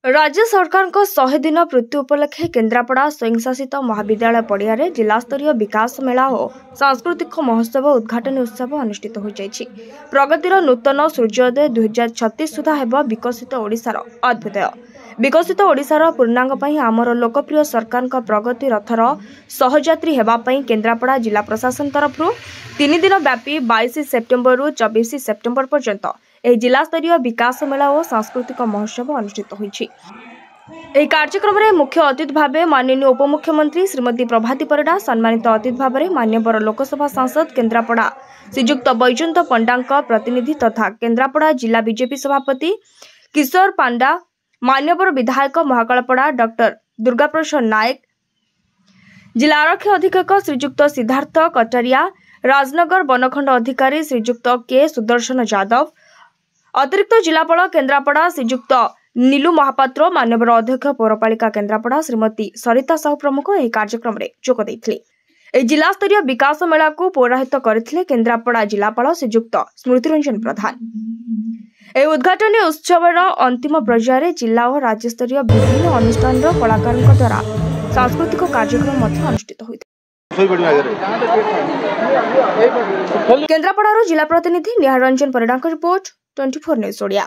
ରାଜ୍ୟ ସରକାରଙ୍କ 100 ଦିନ ପୂର୍ତ୍ତି ଉପଲକ୍ଷେ କେନ୍ଦ୍ରାପଡ଼ା ସ୍ୱୟଂଶାସିତ ମହାବିଦ୍ୟାଳୟ ପଡ଼ିଆରେ ଜିଲ୍ଲାସ୍ତରୀୟ ବିକାଶ ମେଳା ଓ ସାଂସ୍କୃତିକ ମହୋତ୍ସବ ଉଦ୍ଘାଟନୀ ଉତ୍ସବ ଅନୁଷ୍ଠିତ ହୋଇଯାଇଛି। ପ୍ରଗତିର ନୂତନ ସୂର୍ଯ୍ୟୋଦୟ 2036 ସୁଦ୍ଧା ହେବ ବିକଶିତ ଓଡ଼ିଶାର ଅଦ୍ଭୁଦୟ। ବିକଶିତ ଓଡ଼ିଶାର ପୂର୍ଣ୍ଣାଙ୍ଗ ପାଇଁ ଆମର ଲୋକପ୍ରିୟ ସରକାରଙ୍କ ପ୍ରଗତି ରଥର ସହଯାତ୍ରୀ ହେବା ପାଇଁ କେନ୍ଦ୍ରାପଡ଼ା ଜିଲ୍ଲା ପ୍ରଶାସନ ତରଫରୁ 3 ଦିନ ବ୍ୟାପୀ 22 ସେପ୍ଟେମ୍ବରରୁ 24 ସେପ୍ଟେମ୍ବର ପର୍ଯ୍ୟନ୍ତ ଏହି ଜିଲ୍ଲାସ୍ତରୀୟ ବିକାଶ ମେଳା ଓ ସାଂସ୍କୃତିକ ମହୋତ୍ସବ ଅନୁଷ୍ଠିତ ହୋଇଛି। ଏହି କାର୍ଯ୍ୟକ୍ରମରେ ମୁଖ୍ୟ ଅତିଥି ଭାବେ ମାନନୀୟ ଉପମୁଖ୍ୟମନ୍ତ୍ରୀ ଶ୍ରୀମତୀ ପ୍ରଭାତୀ ପରିଡ଼ା, ସମ୍ମାନିତ ଅତିଥି ଭାବରେ ମାନ୍ୟବର ଲୋକସଭା ସାଂସଦ କେନ୍ଦ୍ରାପଡ଼ା ଶ୍ରୀଯୁକ୍ତ ବୈଜୟନ୍ତ ପଣ୍ଡାଙ୍କ ପ୍ରତିନିଧି ତଥା କେନ୍ଦ୍ରାପଡ଼ା ଜିଲ୍ଲା ବିଜେପି ସଭାପତି କିଶୋର ପାଣ୍ଡା, ମାନ୍ୟବର ବିଧାୟକ ମହାକାଳପଡ଼ା ଡକ୍ଟର ଦୁର୍ଗାପ୍ରସାଦ ନାୟକ, ଜିଲ୍ଲା ଆରକ୍ଷୀ ଅଧୀକ୍ଷକ ଶ୍ରୀଯୁକ୍ତ ସିଦ୍ଧାର୍ଥ କଟାରିଆ, ରାଜନଗର ବନଖଣ୍ଡ ଅଧିକାରୀ ଶ୍ରୀଯୁକ୍ତ କେ ସୁଦର୍ଶନ ଯାଦବ, ଅତିରିକ୍ତ ଜିଲ୍ଲାପାଳ କେନ୍ଦ୍ରାପଡ଼ା ଶ୍ରୀଯୁକ୍ତ ନୀଲୁ ମହାପାତ୍ର, ମାନ୍ୟବର ଅଧ୍ୟକ୍ଷ ପୌରପାଳିକା କେନ୍ଦ୍ରାପଡ଼ା ଶ୍ରୀମତୀ ସରିତା ସାହୁ ପ୍ରମୁଖ ଏହି କାର୍ଯ୍ୟକ୍ରମରେ ଯୋଗ ଦେଇଥିଲେ। ଏହି ଜିଲ୍ଲାସ୍ତରୀୟ ବିକାଶ ମେଳାକୁ ପୌରାହିତ କରିଥିଲେ କେନ୍ଦ୍ରାପଡ଼ା ଜିଲ୍ଲାପାଳ ଶ୍ରୀଯୁକ୍ତ ସ୍ମୃତିରଞ୍ଜନ ପ୍ରଧାନ। ଏହି ଉଦ୍ଘାଟନୀ ଉତ୍ସବର ଅନ୍ତିମ ପର୍ଯ୍ୟାୟରେ ଜିଲ୍ଲା ଓ ରାଜ୍ୟସ୍ତରୀୟ ବିଭିନ୍ନ ଅନୁଷ୍ଠାନର କଳାକାରଙ୍କ ଦ୍ୱାରା ସାଂସ୍କୃତିକ କାର୍ଯ୍ୟକ୍ରମ ମଧ୍ୟ ଅନୁଷ୍ଠିତ ହୋଇଥିଲା। କେନ୍ଦ୍ରାପଡ଼ାରୁ ଜିଲ୍ଲା ପ୍ରତିନିଧି ନିହାର ରଞ୍ଜନ ପରିଡ଼ାଙ୍କ ରିପୋର୍ଟ, 24 ନ୍ୟୁଜ୍ ଓଡ଼ିଆ।